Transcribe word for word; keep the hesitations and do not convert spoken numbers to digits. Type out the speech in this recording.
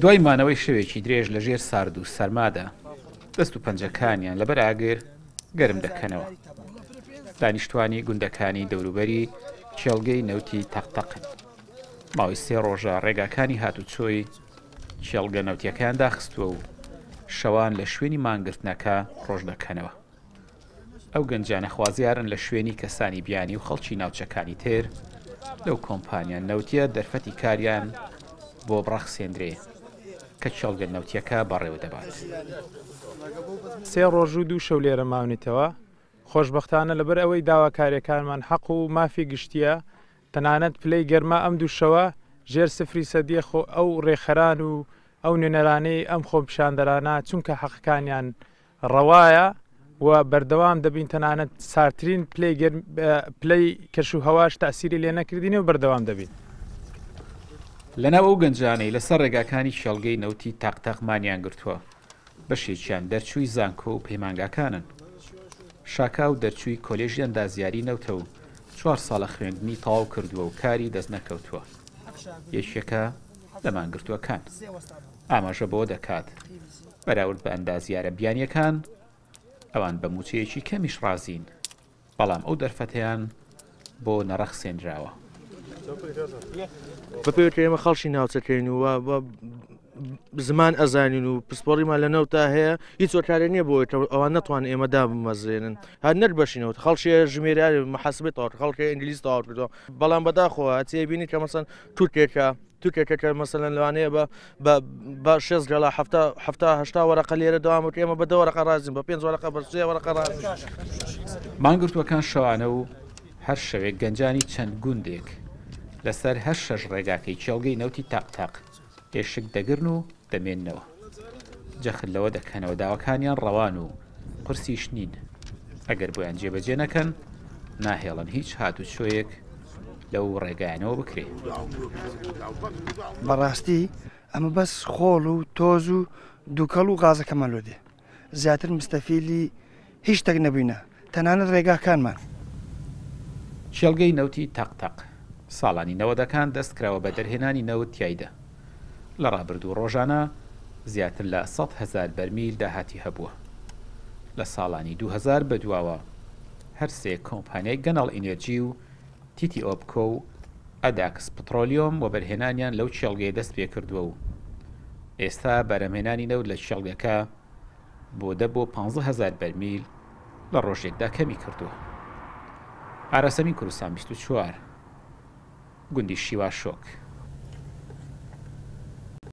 دوای مانەوەی شەوێکی درێژ لە ژێر سارد و سەرمادا، دەست و پەنجەکانیان لەبەر ئاگر گەرم دەکەنەوە. دانیشتوانی گوندەکانی دەوروبەری کێڵگەی نەوتی تەقتەقن. ماوەی سێ ڕۆژە ڕێگاکانی هاتوچۆی کێڵگە نەوتیەکەیان داخستووە و شەوان لە شوێنی مانگرتنەکە ڕۆژ دەکەنەوە. ئەو گەنجانە خوازیارن لە شوێنی کەسانی بیانی و خەڵکی ناوچەکانی تر لەو کۆمپانیا نەوتیە دەرفەتی کاریان بۆ بڕەخسێندرێ کە کێڵگە نەوتیەکە بەڕێوە دەبات. سێ ڕۆژ و دوو شەو لێرە ماونیتەوە. خۆشبەختانە لەبەر ئەوەی داواکاریەکانمان حەق و مافی گشتیە، تەنانەت پلەی گەرما ئەم دوو شەوە ژێر سفری سەدیە، خۆ ئەو ڕێکخەران و ئەو نوێنەرانەی ئەم خۆپیشاندەرانە چونکە حەقەکانیان ڕەوایە و بەردەوام دەبین، تەنانەت سارترین پلەی کەش و هەواش تاسیری لێ نەکردین و بەردەوام دەبین. لەناو ئەو گەنجانەی لەسەر ڕێگاکانی کێڵگەی نەوتی تاقتاق مانیان گرتووە، بەشێکیان دەرچووی زانکۆ و پەیمانگاکانن. شاکاو دەرچووی کۆلێژی ئەندازیاری نەوتە و چوار ساڵە خوێندنی تەواو کردووە و کاری دەست نەکەوتووە. یەکێکە لە مانگرتووەکان. ئاماژە بەوە دەکات بەراورد بە ئەندازیارە بیانیەکان ئەوان بە موچەیەکی کەمیش ڕازین، بەڵام ئەو دەرفەتەیان بۆ نەڕەخسێنراوە. بەپێی کە ئێمە خەڵکی ناوچەکەین و زمان ئەزانین و پسپۆڕیمان لە نەوتا هەیە، هیچ هۆکارێک نییە بۆ ئەوان نەتوان ئێمە دابمەزرێنن. هەر نەک بەشینەوە خەڵکی ژمێریاری محاسبەی تەواو کرد، خەڵکی ئینگلیز تەواو کردەوە، بەڵام بەداخەوە هەچێ بینی کە مەسەن تورکێکە تورکێکە کە مەسەلەن لەوانەیە بە بە شێست گەڵا حەفتا حەفتا هەشتا وەرەقە لێرە دەوام بکە، ئێمە بە دە وەرەقە ڕازین، بە پێنج وەرەقە بە سێ وەرەقە ڕازین. مانگرتووەکان شەوانە و هەر شەوێک گەنجانی چەند گوندێک لەسەر هەر شەش ڕێگاکەی کێڵگەی نەوتی تاقتاق ئێشک دەگرن و دەمێننەوە. جەخت لەوە دەکەنەوە داواکانیان ڕەوان و قورسیش نین، ئەگەر بۆیان جێبەجێ نەکەن ناهێڵن هیچ هاتوچۆیەک لەو ڕێگایانەوە بکرێ. بەڕاستی ئەمە بەس خۆڵ و تۆز و دووکەڵ و غازەکەمان لۆ دێ، زیاتر مستەفیلی هیچ شتێک نەبووینە، تەنانەت ڕێگاکانمان. کێڵگەی نەوتی تەقتەق ساڵانی نەوەدەکان دەست کراوە بە دەرهێنانی نەوت تیایدا. لە ڕابردوو ڕۆژانە زیاتر لە سەد هەزار بەرمیل داهاتی هەبووە. لە ساڵانی دوو هەزار بەدواوە هەر سێ کۆمپانیای گەنەڵ ئینێرجی و تیتی ئۆپکۆ و ئەداکس پترۆلیۆم وەبەرهێنانیان لەو کێڵگەیە دەست پێ کردووە و ئێستا بەرهەمهێنانی نەوت لە کێڵگەکە بۆ دە بۆ پانزە هەزار بەرمیل لە ڕۆژێکدا کەمی کردووە. ئاراسەمی کوردستان بیست و چوار، گوندی شیواشۆک.